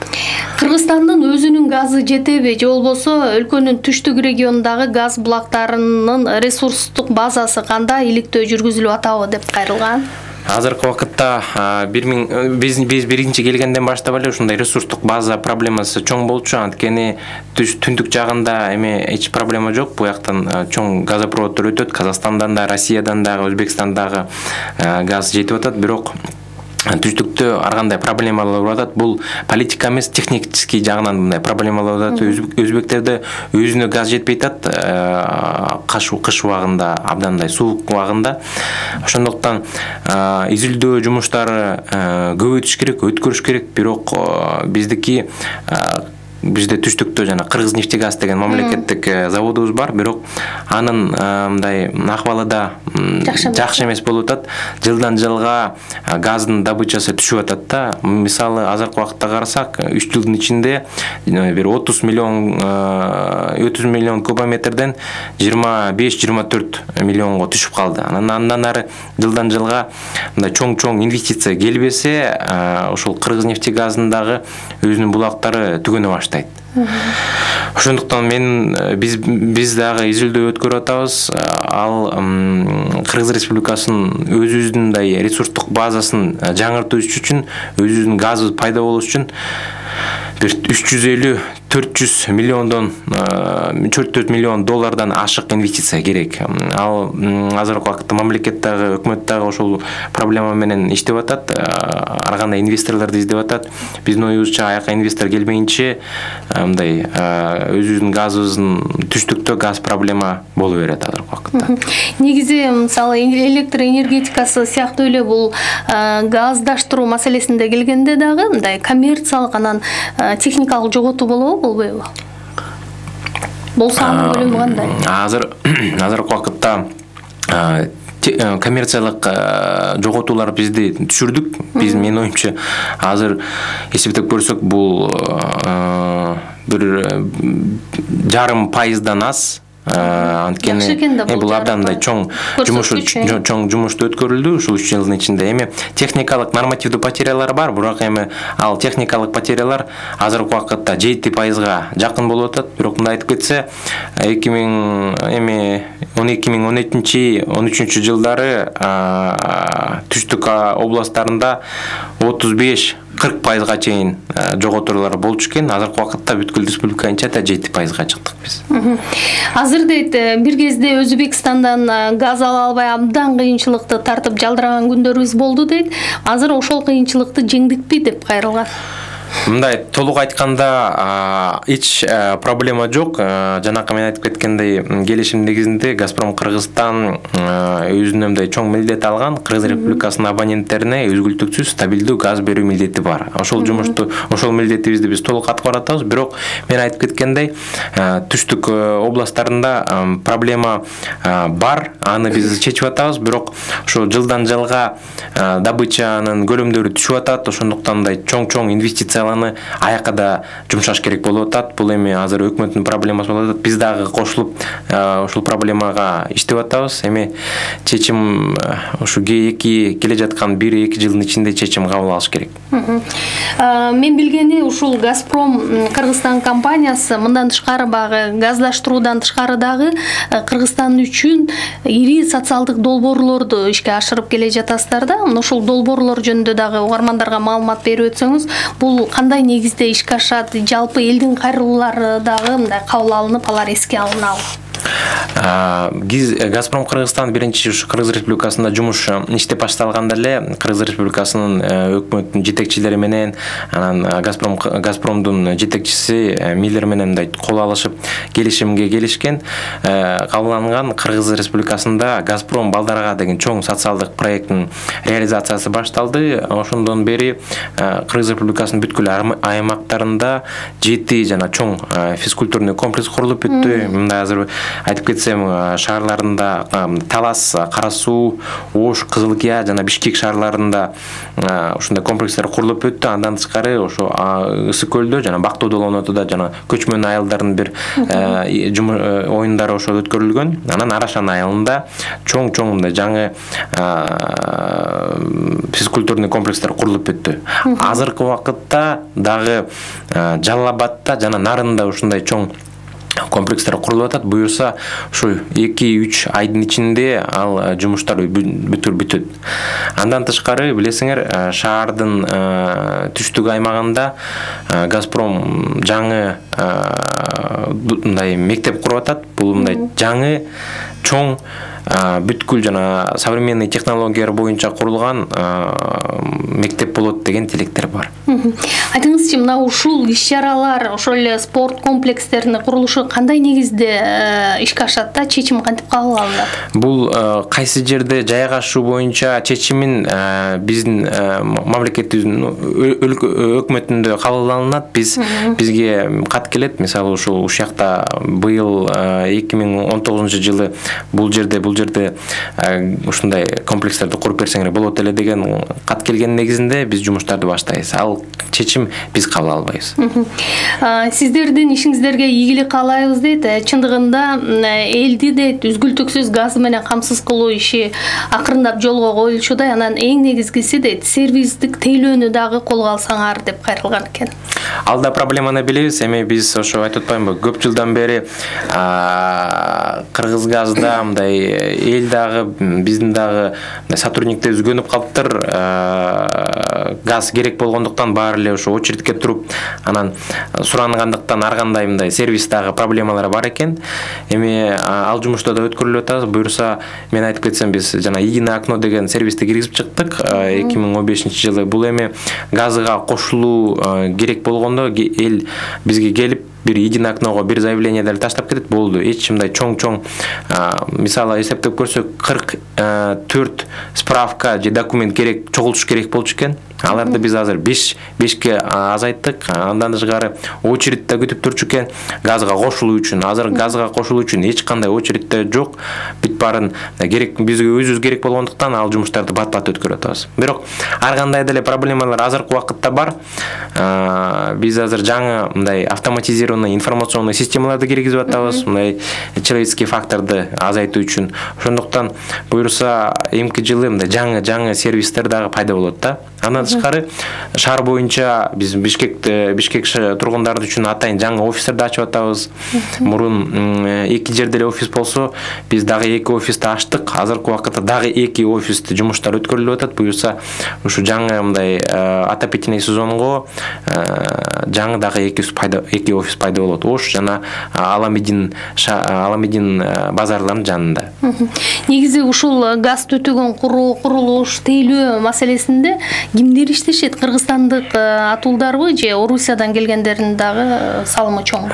Кыргызстандын өзүнүн газы жетеби же болбосо өлкөнүн түштүк регионундагы газ булактарынын ресурстук базасы кандай иликтөө жүргүзүлүп атабы деп кайрылган. Азыркы убакытта биз биз биринчи келгенден баштап эле ушундай ресурстук база проблемасы чоң болчу. Анткени түндүк жагында эми эч проблема жок. Бу жактан чоң газопроводдор өтөт. Казакстандан да, Россиядан дагы, Өзбекстандагы газ жетип атат. Бирок түштүктө ар кандай проблемалар болуп атат. Бул политика эмес, технический жагынан мындай проблемалар болуп атат. Өзбектерде өзүнө газ жетпей атат. Кыш кыш убагында, абдандай суук убагында. Ошондуктан изилдөө жумуштары көбөйтүш керек, өткөрүш керек. Бирок биздики бизде түштүктө жана Кыргызнефтегаз деген мамлекеттик заводубуз бар, бирок анын мындай акыбалы да жакшы эмес болуп атат. Жылдан жылга газдын добычасы түшүп атат да. Мисалы, азыркы убакытта карасак, үч жылдын ичинде бир отуз миллион отуз миллион кубометрден жыйырма беш жыйырма төрт миллионго түшүп калды. Андан ары жылдан жылга мындай чоң-чоң инвестиция келбесе, ошол Кыргызнефтегаздын дагы өзүнүн булактары түгөнө баштайт. Ошондуктан мен биз биз дагы изилдөө өткөрүп атабыз. Ал Кыргыз Республикасынын өзүбүздүн мындай ресурстук базасын жаңыртыш үчүн, өзүбүздүн газыбыз пайда болуш үчүн бир үч жүз элүү төрт жүз миллиондон төрт жүз миллион доллардан ашык инвестиция керек. Ал азыркы убакытта мамлекет дагы, өкмөт дагы ошол проблема менен иштеп атат. Ар кандай инвесторлорду издеп атат. Биздин оюбузча аяка инвестор келмейинче мындай өзүбүздүн газыбыздын түштүктө газ проблема боло берет азыркы убакытта. Негизи мисалы электр энергетикасы сыяктуу эле бул газдаштыруу маселесинде келгенде дагы мындай коммерциялык анан техникалык жоготуу болобу, болбойбу? Болсо анын көлөмү кандай? Азыр азыркы убакытта коммерциялык жоготуулар бизди түшүрдүк. Биз, менин оюмча, азыр эсептеп көрсөк, бул бир жарым пайыздан аз. Анткени бул абдандай чоң жумуш чоң жумушту өткөрүлдү ушул үч жылдын ичинде. Эми техникалык нормативдүү потерялар бар, бирок эми ал техникалык потерялар азыркы убакытта жети пайызга жакын болуп атат. Бирок мындай айтып кетсе, эки миң эми он эки миң он экинчи он үчүнчү жылдары түштүк областтарында отуз беш кырк пайызга чейин жоготуулар болчу экен. Азыркы убакытта бүткүл республика боюнча да жети пайызга чыктык биз. Азыр дейт, бир кезде Өзбекстандан газ ала албай абдан кыйынчылыкты тартып жалдыраган күндөрүбүз болду дейт. Азыр ошол кыйынчылыкты жеңдикпи деп кайрылган. Мындай толук айтканда эч проблема жок. Жанакы мен айтып кеткендей, келишим негизинде Газпром Кыргызстан өзүнүн мындай чоң милдет алган, Кыргыз Республикасынын абоненттерине үзгүлтүксүз стабилдүү газ берүү милдети бар. Ошол жумушту, ошол милдетибизди биз толук аткарып атабыз. Бирок мен айтып кеткендей, түштүк областтарында проблема бар, аны биз чечип атабыз. Бирок ошо жылдан жылга добычанын көлөмдөрү түшүп атат. Ошондуктан мындай чоң-чоң инвестицияларды аяка да жумшаш керек болуп атат. Бул эми азыр өкмөттүн проблемасы болуп атат. Биз дагы кошулуп ушул проблемага иштеп атабыз. Эми чечим ушу эки келе жаткан бир эки жылдын ичинде чечим кабыл алыш керек. Мен билгени ушул Газпром Кыргызстан компаниясы мындан тышкары багы газдаштыруудан тышкары дагы Кыргызстан үчүн ири социалдык долбоорлорду ишке ашырып келе жатасыздар да. Ушул долбоорлор жөнүндө дагы угармандарга маалымат берип өтсөңүз, бул кандай негизде ишке ашат, жалпы элдин кайрылуулары дагы мындай кабыл алынып, алар эске алынабы? Газпром Кыргызстан биринчи ушу Кыргыз Республикасында жумуш иштеп башталганда эле Кыргыз Республикасынын өкмөттүн жетекчилери менен, анан Газпром Газпромдун жетекчиси Миллер менен мындай кол алышып келишимге келишкен. Кабыл алынган Кыргыз Республикасында Газпром балдарга деген чоң социалдык проекттин реализациясы башталды. Ошондон бери Кыргыз Республикасынын бүткүл аймактарында жети жана чоң физкультурный комплекс курулуп бүттү. Мындай азыр айтып кетсем, шаарларында Талас, Кара Суу, Ош, Кызылкия жана Бишкек шаарларында ушундай комплекстер курулуп өттү. Андан тышкары ошо Ысык көлдө жана Бактоо долонотуда жана көчмөн айылдардын бир оюндары ошо өткөрүлгөн. Анан Арашан айылында чоң-чоң мындай жаңы физкультурный комплекстер курулуп өттү. Азыркы убакытта дагы Жалал Абадта жана Нарында ушундай чоң комплекстер курулуп атат. Буюрса ушу эки үч айдын ичинде ал жумуштар бүтүр бүтөт. Андан тышкары билесиңер, шаардын түштүк аймагында Газпром жаңы мындай мектеп куруп атат. Бул мындай жаңы чоң бүткүл жана современный технологиялар боюнча курулган мектеп болот деген тилектер бар. Айтыңызчы, мына ушул иш-чаралар, ошол эле спорт комплекстеринин курулушу кандай негизде ишке ашат да, чечим кантип кабыл алынат? Бул кайсы жерде жайгашуу боюнча чечимин биздин мамлекетибиздин өкмөтүндө кабыл алынат. Биз бизге кат келет. Мисалы ушул ушакта быйыл эки миң он тогузунчу жылы бул жерде бул жерде ушундай комплекстерди куруп берсеңер болот эле деген кат келген негизинде биз жумуштарды баштайбыз. Ал чечим биз кабыл албайбыз. Сиздердин ишиңиздерге ийгилик каалайбыз дейт. Чындыгында элди де үзгүлтүксүз газ менен камсыз кылуу иши акырындап жолго коюлчудай. Анан эң негизгиси дейт, сервистик тейлөөнү дагы колго алсаңар деп кайрылган экен. Алда проблеманы билебиз. Эми биз ошо айтып атпаймынбы, көп жылдан бери Кыргызгазда мындай эл дагы биздин дагы сотрудниктер үзгөнүп калыптыр. Газ керек болгондуктан баары эле ошо очередке туруп, анан сурангандыктан ар кандай мындай сервис дагы проблемалар бар экен. Эми ал жумушта да өткөрүлүп атабыз. Буюрса, мен айтып кетсем, биз жана Единое окно деген сервисти киргизип чыктык эки миң он бешинчи жылы. Бул эми газга кошулуу керек болгондо эл бизге келип бир Единое окного бир заявленияларды таштап кетет, болду. Эч мындай чоң-чоң, мисалы эсептеп көрсөк, кырк төрт справка же документ керек, чогултуш керек болчу экен. Аларды биз азыр бешке азайттык. Андан тышкары очередте күтүп турчу экен газга кошулуу үчүн. Азыр газга кошулуу үчүн эч кандай очередте жок. Бүт баарын керек, бизге өзүбүз керек болгондуктан ал жумуштарды бат-бат өткөрүп атабыз. Бирок ар кандай деле проблемалар азыркы убакытта бар. Биз азыр жаңы мындай автоматизированный информационный системаларды киргизип атабыз, мындай человеческий факторду азайтуу үчүн. Ошондуктан буюрса эмки жылы мындай жаңы-жаңы сервистер дагы пайда болот да. Андан тышкары шаар боюнча биз Бишкекте Бишкек тургундары үчүн атайын жаңы офистерди ачып атабыз. Мурун эки жерде эле офис болсо, биз дагы эки офисти ачтык. Азыркы убакытта дагы эки офисти жумуштар өткөрүлүп атат. Буюрса ушу жаңы мындай отопительный сезонго жаңы дагы эки пайда эки офис пайда болот. Ош жана Аламедин Аламедин базарларынын жанында. Негизи ушул газ түтүгөн курулуш тейлөө маселесинде кимдер иштешет? Кыргызстандык атуулдарбы же Орусиядан келгендердин дагы салымы чоң?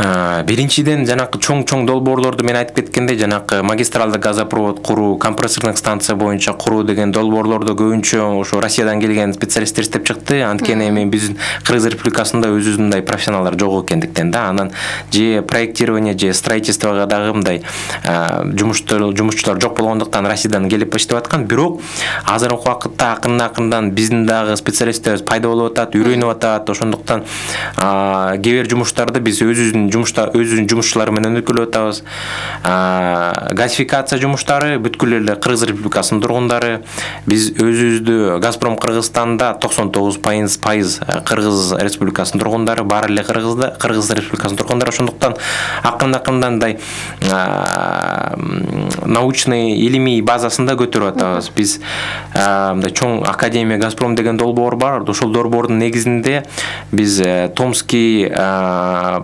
Биринчиден жанакы чоң-чоң долбоорлорду мен айтып кеткендей, жанакы магистралды газопровод куруу, компрессордук станция боюнча куруу деген долбоорлорду көбүнчө ошо Россиядан келген специалисттер иштеп чыкты. Анткени эми биздин Кыргыз Республикасында өзүбүзүндай профессионалдар жок экендиктен да, анан же проектирование же строительствого дагы мындай жумуштар жумушчулар жок болгондуктан Россиядан келип иштеп аткан. Бирок азыркы убакытта акырын-акырындан биздин дагы специалисттерибиз пайда болуп атат, үйрөнүп атат. Ошондуктан кээ бир жумуштарды биз өзүбүздүн жумушта өзүбүздүн жумушчулар менен өткөрүп атабыз. Газификация жумуштары бүткүл эле Кыргыз Республикасынын тургундары, биз өзүбүздү Газпром Кыргызстанда токсон тогуз пайыз Кыргыз Республикасынын тургундары, баары эле Кыргызда Кыргыз Республикасынын тургундары. Ошондуктан акырын-акырындан научный илимий базасында көтөрүп атабыз. Биз мындай чоң Академия Газпром деген долбоор бар. Ошол долбоордун негизинде биз Томский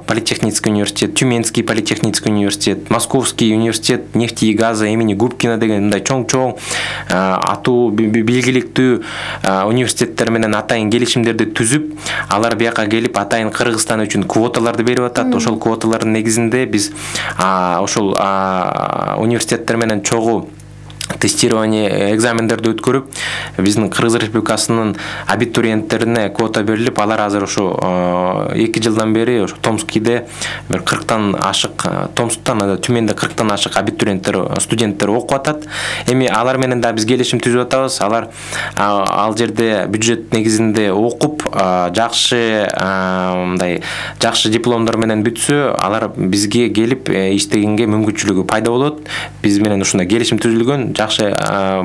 политехнический университет, Тюменский политехнический университет, Московский университет нефти и газа имени Губкина деген мындай чоң-чоң атуу белгиликтүү университеттер менен атайын келишимдерди түзүп, алар бияка келип атайын Кыргызстан үчүн квоталарды берип атат. Ошол квоталардын негизинде биз ошол университеттер менен чогуу тестирование экзамендерди өткөрүп, биздин Кыргыз Республикасынын абитуриенттерине квота берилип, алар азыр ошо эки жылдан бери ошо Томскийде бир кырктан ашык, Томсктан да Түменде кырктан ашык абитуриенттер, студенттер окуп атат. Эми алар менен да биз келишим түзүп атабыз. Алар ал жерде бюджет негизинде окуп, жакшы мындай жакшы дипломдор менен бүтсө, алар бизге келип иштегенге мүмкүнчүлүгү пайда болот. Биз менен ушундай келишим түзүлгөн. Жакшы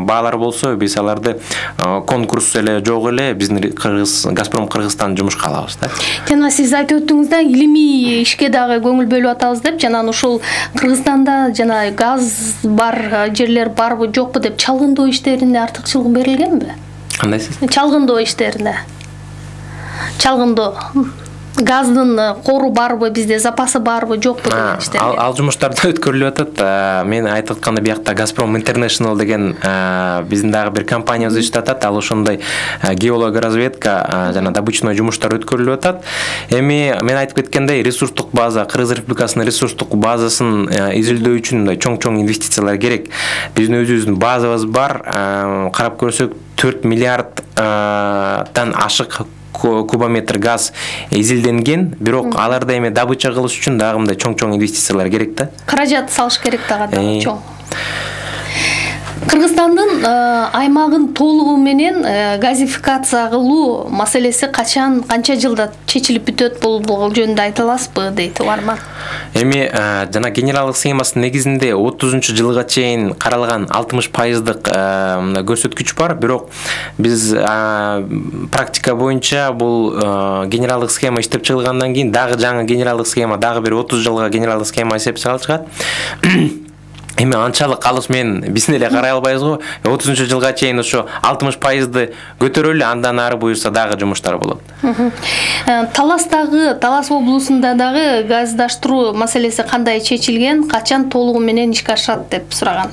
баалар болсо, биз аларды конкурс эле жок эле биздин Кыргыз Газпром Кыргызстан жумушка алабыз да. Жана сиз айтып өттүңүз да, илимий ишке дагы көңүл бөлүп атабыз деп, жана ушул Кыргызстанда жана газ бар жерлер барбы жокпу деп чалгындоо иштерине артыкчылык берилгенби? Кандайсыз? Чалгындоо иштерине. Чалгындоо газдын кору барбы, бизде запасы барбы жокпу деген иштер. Ал жумуштарды өткөрүлүп атат. Мен айтып атканда биякта Газпром International деген биздин дагы бир компаниябыз иштеп атат. Ал ошондой геологоразведка жана добычный жумуштар өткөрүлүп атат. Эми мен айтып кеткендей, ресурстук база, Кыргыз Республикасынын ресурстук базасын изилдөө үчүн мындай чоң-чоң инвестициялар керек. Биздин өзүбүздүн базабыз бар. Карап көрсөк төрт миллиарддан ашык кубометр газ изилденген, бирок аларды эми добыча кылыш үчүн дагы мындай чоң-чоң инвестициялар керек да. Каражат салыш керек дагы чоң. Кыргызстандын аймагын толугу менен газификация кылуу маселеси качан, канча жылда чечилип бүтөт, бул жөнүндө айта аласызбы дейт угарман. Эми жана генералдык схемасынын негизинде отузунчу жылга чейин каралган алтымыш пайыздык көрсөткүч бар, бирок биз практика боюнча бул генералдык схема иштеп чыгылгандан кийин дагы жаңы генералдык схема, дагы бир отуз жылга генералдык схема иштеп чыгат. Эми анчалык алыс мен биздин эле карай албайбыз го. отузунчу жылга чейин ошо алтымыш пайызды көтөрөлү, андан ары буюрса дагы жумуштар болот. Таластагы, Талас облусунда дагы газдаштыруу маселеси кандай чечилген, качан толугу менен ишке ашат деп сураган.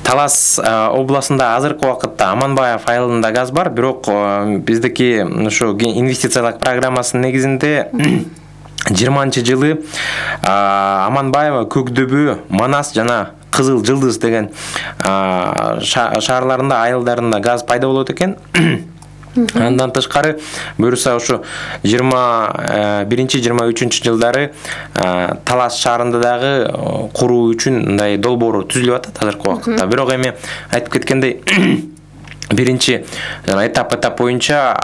Талас областында азыркы убакытта Аманбаев айылында газ бар, бирок биздики ошо инвестициялык программасынын негизинде жыйырманчы жылы Аманбаева, Көкдөбө, Манас жана Кызыл Жылдыз деген шаарларында, айылдарында газ пайда болот экен. Андан тышкары буюрса ошо жыйырма биринчи жыйырма үчүнчү жылдары Талас шаарында дагы куруу үчүн мындай долбоор түзүлүп атат азыркы убакытта. Бирок эми айтып кеткендей биринчи этап-этап боюнча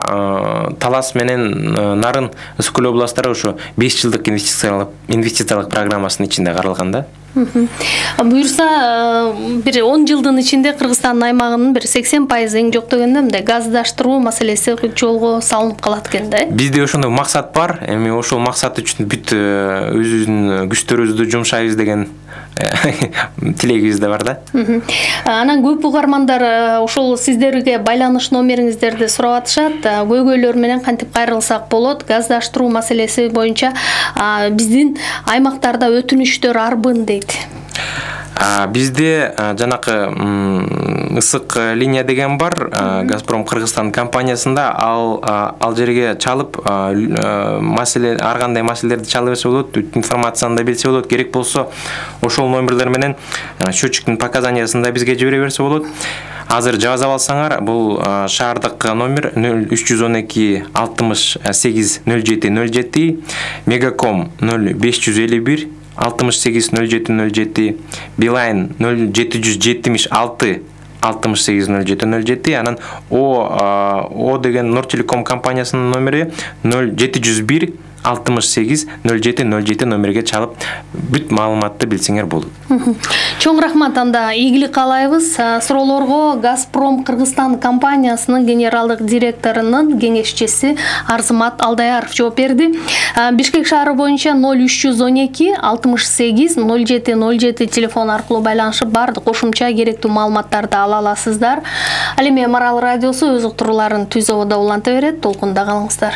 Талас менен Нарын Ысык көл областтары ошо беш жылдык инвестициялык инвестициялык программасынын ичинде каралган да. Буюрса бир он жылдын ичинде Кыргызстандын аймагынын бир сексен пайызы эң жок дегенде мындай газдаштыруу маселеси жолго салынып калат экен да. Бизде ошондой максат бар. Эми ошол максат үчүн бүт өзүбүздүн күчтөрүбүздү жумшайбыз деген тилегибиз да бар да. Анан көп угармандар ошол сиздерге байланыш номериңиздерди сурап атышат. Көйгөйлөр менен кантип кайрылсак болот? Газдаштыруу маселеси боюнча биздин аймактарда өтүнүчтөр арбын дейт. Бизде жанакы ысык линия деген бар, Газпром Кыргызстан компаниясында, ал ал жерге чалып маселе ар кандай маселелерди чала берсе болот, информацияны да билсе болот, керек болсо ошол номерлер менен счетчиктин показаниясын да бизге жибере берсе болот. Азыр жазып алсаңар, бул шаардык номер нөл үч жүз он эки алтымыш сегиз нөл жети нөл жети, Мегаком нөл беш жүз элүү бир алтымыш сегиз нөл жети нөл жети, Билайн нөл жети жүз жетимиш алты алтымыш сегиз нөл жети нөл жети, анан О О деген Нортелеком компаниясынын номери нөл жети жүз бир алтымыш сегиз нөл жети нөл жети номерге чалып бүт маалыматты билсеңер болот. Чоң рахмат, анда ийгилик каалайбыз. Суроолорго Газпром Кыргызстан компаниясынын генералдык директорунун кеңешчиси Арзымат Алдаяров жооп берди. Бишкек шаары боюнча нөл үч жүз он эки алтымыш сегиз нөл жети нөл жети телефон аркылуу байланышып бардык кошумча керектүү маалыматтарды ала аласыздар. Ал эми Марал радиосу өз уктурууларын Түз абада уланта берет. Толкунда калыңыздар.